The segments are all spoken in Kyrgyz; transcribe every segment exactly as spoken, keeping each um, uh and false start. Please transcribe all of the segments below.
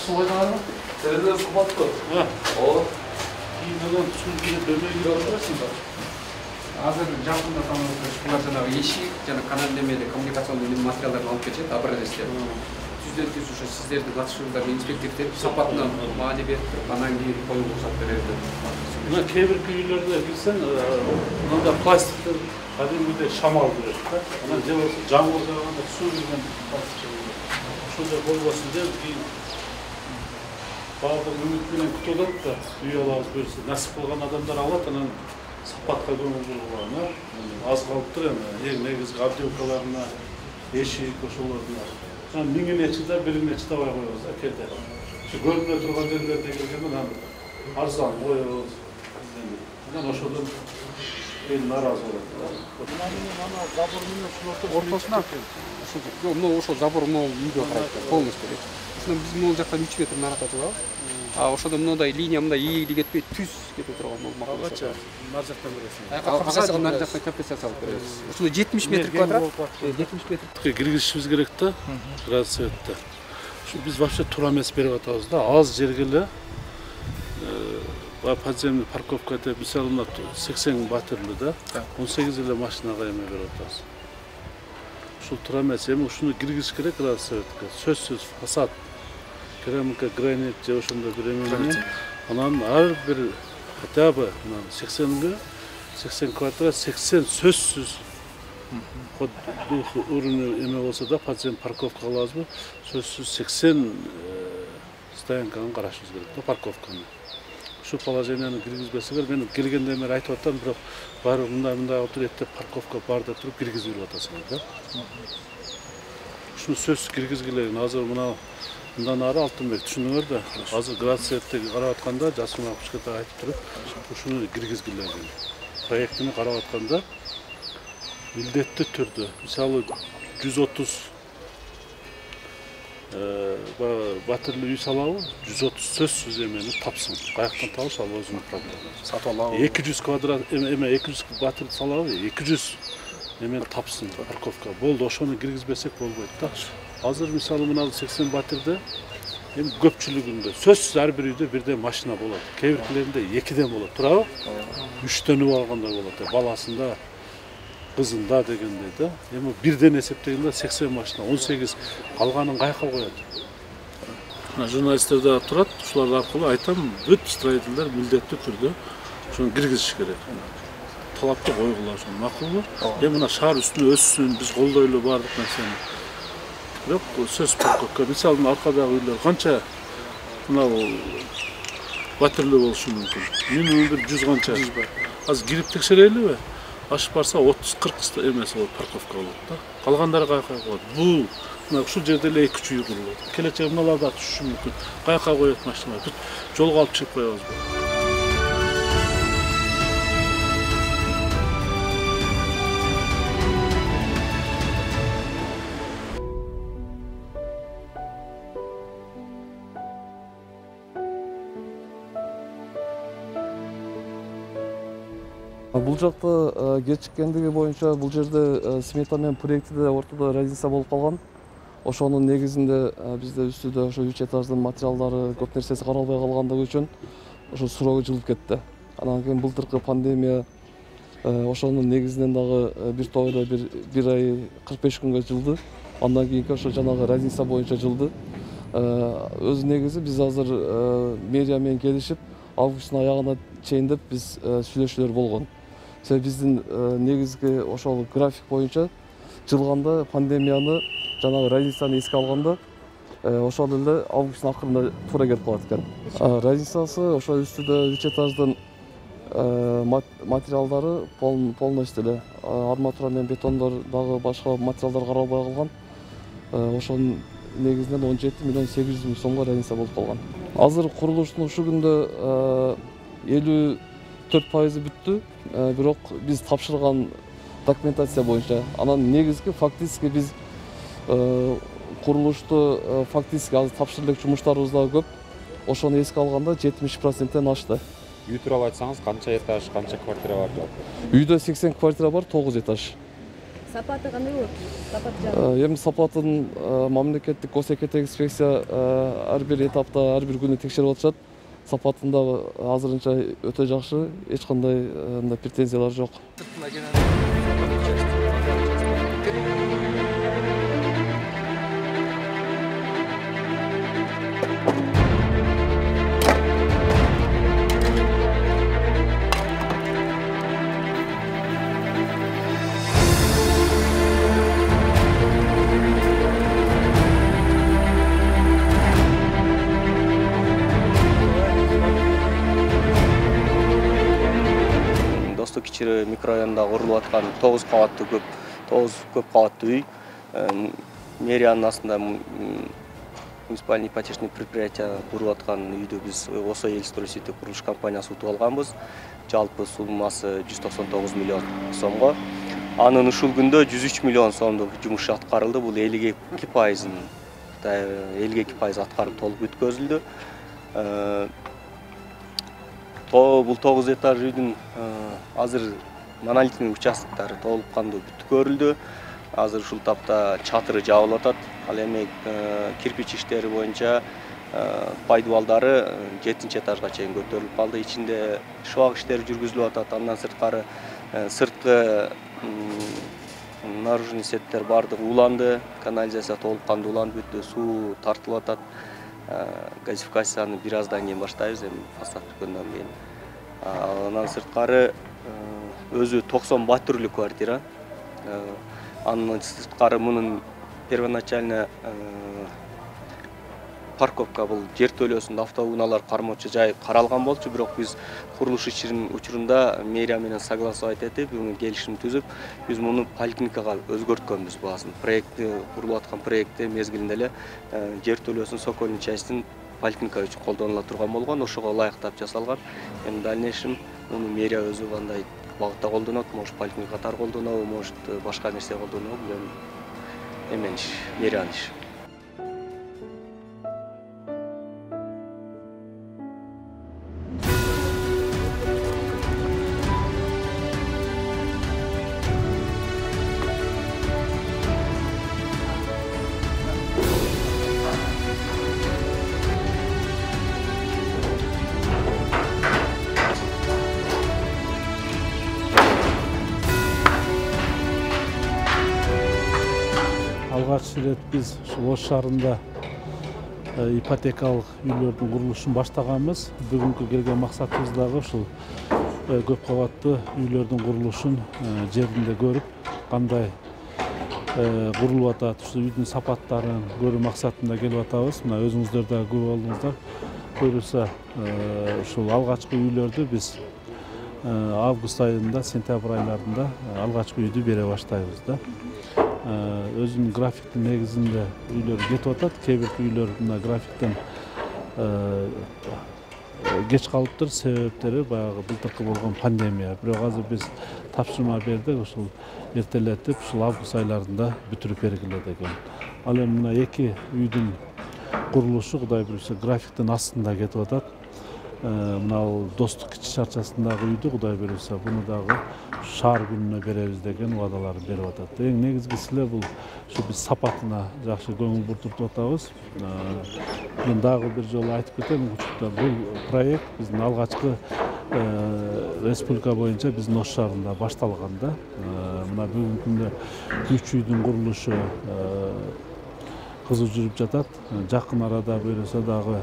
суу кайдан? Терезелер сапаттуу. Ооба. Кийинен суу кирип дөмөй кирип турасыңдар. Азыр жакында тамашачылар жанагы ишик жана канал немеде коммуникационный материалдарды алып келишет, образецтер. Түздөн түз ушу сиздердин катышуңуздар инспектор сапатына маани берип туруп, анан кийин коюп уруксат берет. Мына кээ бир үйлөрдө кирсең, мында пластиктер кадимгидей шамал берет да. Анан же болбосо жамгыр жааганда суу кирген пластик. Ошондой болбосун деп кийин баардык үмүт менен күтүп атат да, үй алабыз берсе, насип кылган адамдар алат, анан сапатка көңүл бурган, аз калыптыр эми, эң негизги отделкаларына, эшик ошолордун. Анан миңине чыда, бирине чыдабай коебуз да кээде. Ушу көрүнө турган жерлерде келгенде анан арзан коебуз. Анан ошодон эл нааразы болот. Мына забор менен ушул ортосуна ушул жок, ошол забор могу үйгө карайт, полностью. Ушунан биз могу жактан үч метр наракта турабыз. А ошодо мындай линия мындай ийгили кетпей түз кете турган болмак. Алгача нар жактан бересиң. Алгача нар жактан компенсация алып беребиз. Ушул жетимиш метр квадрат. жетимиш метр. Киргизишибиз керек да, градусетте. Ушу биз вообще туура эмес берип атабыз да, аз жерге эле подземный парковка деп мисалы мына сексен батирлүү да, он сегиз эле машинага эме берип атабыз. Ушул туура эмес, эми ушуну киргизиш керек градусетке. Сөзсүз фасад керамика, гранит же ошондой бир эме менен анан ар бир хотя бы сексенге сексен квадрат сексен сөзсүз код дух уровень эме болсо да, подзем парковка кылабызбы, сөзсүз сексен стоянканы карашыбыз керек да, парковканы. Ушул положенияны киргизбесеңер, мен келгенде эме айтып атам, бирок баары мындай мындай отур эттеп парковка бар деп туруп киргизип берип атасыңар да. Ушуну сөзсүз киргизгиле. Азыр мына мындан ары Алтынбек түшүнүңөр да, азыр градусетте карап атканда Жасман Акушката айтып туруп, ушуну киргизгиле. Проектини карап атканда милдеттүү түрдө, мисалы жүз отуз батирлүү үй салабы, жүз отуз сөзсүз эмени тапсын. Каяктан табыш ал өзүнүн проблемасы. Сатып алабы. эки жүз квадрат эме эки жүз батир салабы, эки жүз эмени тапсын парковка. Болду, ошону киргизбесек болбойт да. Азыр мисалы мына сексен батирде эми көпчүлүгүндө сөзсүз ар бир үйдө бирден машина болот. Кээ биркилеринде экиден болот, туурабы? Үчтөнүп алгандар болот, баласында, кызында дегендей да. Эми бирден эсептегенде сексен машина, он сегиз калганын каяка коет. Мына журналисттер да турат, ушулар аркылуу айтам, бүт строительдер милдеттүү түрдө ошону киргизиш керек. Талапты койгула, ошону макулбу? Эми мына шаар үстүнө өссүн, биз колдойлу баардык нерсени. Бирок сөз парковка, мисалы аркадагы үйлөр канча мына батирлүү болушу мүмкүн. Минимум бир жүз канча. Азыр кирип текшерелиби? Ашып барса отуз кырк эмес болот, парковка болот да. Калгандары каяка коет? Бул мына ушул жерде эле эки үч үй курулат. Келечеги мыналар да түшүшү мүмкүн. Каяка коет машина? Бүт жолго алып чыгып коебузбу? Бул жакта кечиккендиги боюнча бул жерде смета менен проектиде ортодо разница болуп калган. Ошонун негизинде бизде үстүдө ошо үч этаждын материалдары көп нерсеси каралбай калгандыгы үчүн ошо суроо жылып кетти. Анан кийин былтыркы пандемия ошонун негизинен дагы бир топ эле бир бир ай кырк беш күнгө жылды. Андан кийинки ошо жанагы разница боюнча жылды. Өз негизи биз азыр мэрия менен келишип августтун аягына чейин деп биз сүйлөшүүлөр болгон. Себеби биздин негизги ошол график боюнча жылганда пандемияны жанагы разницаны эске алганда ошол эле августтун акырында туура келип калат экен. Разницасы ошо үстүдө үч этаждын материалдары полностью эле арматура менен бетондор дагы башка материалдар каралбай калган. Ошонун негизинен он жети миллион сегиз жүз миң сомго разница болуп калган. Азыр курулуштун ушул күндө элүү төрт пайызы бүттү. Бирок биз тапшырган документация боюнча анан негизги фактически биз курулушту фактически азыр тапшырып элек жумуштарыбыз дагы көп. Ошону эске алганда жетимиш проценттен ашты. Үй тууралуу айтсаңыз, канча этаж, канча квартира бар жалпы? Үйдө сексен квартира бар, тогуз этаж. Сапаты кандай болот? Сапаты жагы. Эми сапатын мамлекеттик госэкетик инспекция ар бир этапта, ар бир күнү текшерип атышат. Сапатын дагы азырынча өтө жакшы, эч кандай мындай претензиялар жок. Кичире микрорайонунда курулуп аткан тогуз кабаттуу көп тогуз көп кабаттуу үй. Мэриянын астында муниципальный ипотечный предприятие куруп аткан үйдү биз Осо Элстрой Сити курулуш компаниясы утуп алганбыз. Жалпы суммасы жүз токсон тогуз миллион сомго. Анын ушул күндө жүз үч миллион сомдук жумуш аткарылды. Бул элүү эки пайызын элүү эки пайыз аткарып толук бүткөзүлдү. Бул тогуз этаж үйдүн азыр монолитный участоктары толук кандуу бүткөрүлдү. Азыр ушул тапта чатыры жабылып атат. Ал эми кирпич иштери боюнча пайдубалдары жетинчи этажга чейин көтөрүлүп калды. Ичинде шыбак иштери жүргүзүлүп атат. Андан сырткары сырткы наружный сеттер бардыгы уланды. Канализация толук кандуу уланып бүттү. Суу тартылып атат. Газификацияны бир аздан кийин баштайбыз, эми фасад бүткөндөн кийин. Андан сырткары өзү токсон батүрлүк квартира. Андан сырткары мунун первоначально парковка бул жер төлөөсүндө автоунаалар кармоочу жай каралган болчу, бирок биз курулуш ишинин учурунда мэрия менен согласовать этип, буга келишим түзүп, биз муну поликлиникага өзгөрткөнбүз баасын. Проектти курулуп аткан проектти мезгилинде эле жер төлөөсүн Сокольный частин поликлиника үчүн колдонула турган болгон, ошого ылайыктап жасалган. Эми дальнейшем муну мэрия өзү кандай багытта колдонот, может поликлиника катары колдонобу, может башка нерсе колдонобу, бул эми эмне иш, мэриянын иши. Алгач ирет биз ушул Ош шаарында ипотекалык үйлөрдүн курулушун баштаганбыз. Бүгүнкү келген максатыбыз дагы ушул көп кабаттуу үйлөрдүн курулушун жеринде көрүп, кандай курулуп атат, ушул үйдүн сапаттарын көрүү максатында келип атабыз. Мына өзүңүздөр да көрүп алдыңыздар. Көрүлсө, ушул алгачкы үйлөрдү биз август айында, сентябрь айларында алгачкы үйдү бере баштайбыз да. Өзүнүн графиктин негизинде үйлөр кетип атат. Кээ бир үйлөр мына графиктен кеч калыптыр. Себептери баягы былтыркы болгон пандемия. Бирок азыр биз тапшырма бердик, ушул эртелетип, ушул август айларында бүтүрүп бергиле деген. Ал эми мына эки үйдүн курулушу Кудай буюрса графиктин астында кетип атат. Мына Достук Кичи чарчасындагы үйдү Кудай буюрса буну дагы шаар күнүнө беребиз деген убадаларын берип атат. Эң негизгиси эле бул ушу биз сапатына жакшы көңүл буртуп атабыз. Мен дагы бир жолу айтып кетем, бул проект биздин алгачкы республика боюнча биздин Ош шаарында башталган да. Мына бүгүнкү күндө үч үйдүн курулушу кызуу жүрүп жатат. Жакын арада буюрса дагы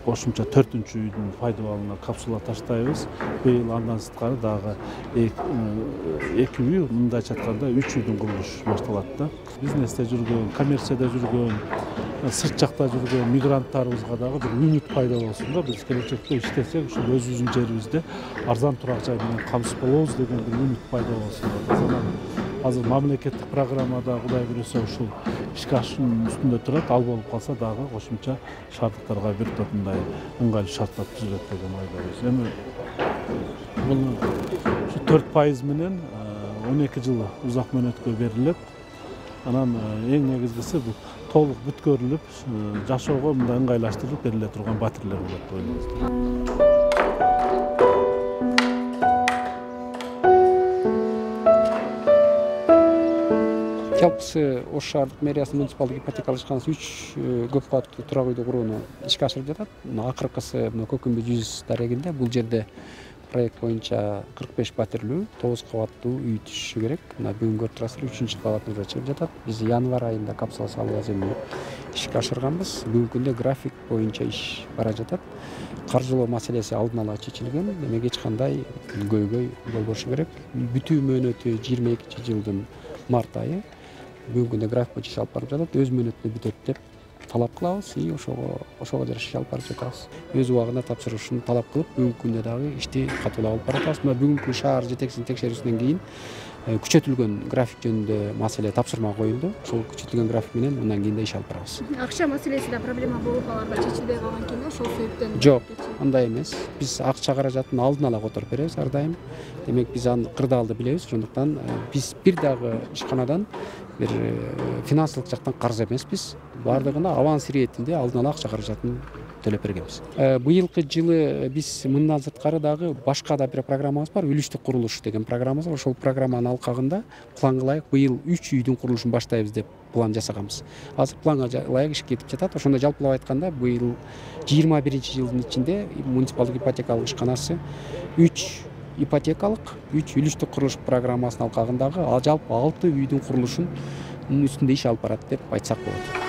кошумча төртүнчү үйдүн пайдаланууна капсула таштайбыз. Быйыл андан сырткары дагы эки үй, мындайча айтканда үч үйдүн курулушу башталат да. Бизнесте жүргөн, коммерцияда жүргөн, сырт жакта жүргөн мигранттарыбызга дагы бир үмүт пайда болсун да. Биз келечекте иштесек, ушул өзүбүздүн жерибизде арзан турак жай менен камсыз болобуз деген бир үмүт пайда болсун. Азыр мамлекеттик программада Кудай буюрса ушул ишке ашуунун үстүндө турат. Ал болуп калса дагы кошумча шаардыктарга бир топ мындай ыңгайлуу шарттар түзүлөт деген ойдобуз. Эми бул ушу төрт пайыз менен он эки жыл узак мөөнөткө берилет. Анан эң негизгиси бул толук бүткөрүлүп, жашоого мындай ыңгайлаштырылып бериле турган батирлер болот деп ойлойбуз. жалпысы ош шаардык мэриясынын муниципалдык ипотекалык ишканасы үч көп кабаттуу турак үйдү курууну ишке ашырып жатат. Мына акыркысы мына Көкүмбү жүз дарегинде. Бул жерде проект боюнча кырк беш паттирлүү тогуз кабаттуу үй түшүшү керек. Мына бүгүн көрүп турасыздар, үчүнчү кабатыбызда чыгып жатат. Биз январь айында капсула салуу аземни ишке ашырганбыз. Бүгүнкү күндө график боюнча иш бара жатат. Каржылоо маселеси алдын ала чечилген. Демек эч кандай көйгөй болбошу керек. Бүтүү мөөнөтү жыйырма экинчи жылдын март айы. Бүгүнкү күндө график боюнча иш алып барып жатат. Өз мөөнөтүндө бүтөт деп талап кылабыз и ошого ошого жараша иш алып барып жатабыз. Өз убагында тапшырышын талап кылып, бүгүнкү күндө дагы ишти катуулап алып баратабыз. Мына бүгүнкү шаар жетекчисинин текшерүүсүнөн кийин күчөтүлгөн график жөнүндө маселе тапшырма коюлду. Ошол күчөтүлгөн график менен мындан кийин да иш алып барабыз. Акча маселеси да проблема болуп калганда чечилбей калган экен, ошол себептен. Жок, андай эмес. Биз акча каражатын алдын ала которуп беребиз ар дайым. Демек биз аны кырдаалды билебиз. Ошондуктан биз бир дагы ишканадан бир финансылык жактан карыз эмеспиз. Бардыгына аванс иретинде алдын ала акча каражатын төлөп бергенбиз. Быйылкы жылы биз мындан сырткары дагы башка да бир программабыз бар. Үлүштүк курулуш деген программабыз бар. Ошол программанын алкагында план кылайык, быйыл үч үйдүн курулушун баштайбыз деп план жасаганбыз. Азыр планга ылайык иш кетип жатат. Ошондо жалпылап айтканда быйыл жыйырма биринчи жылдын ичинде муниципалдык ипотекалык ишканасы үч ипотекалык, үч үлүштүк курулуш программасынын алкагындагы жалпы алты үйдүн курулушун үстүндө иш алып барат деп айтсак болот.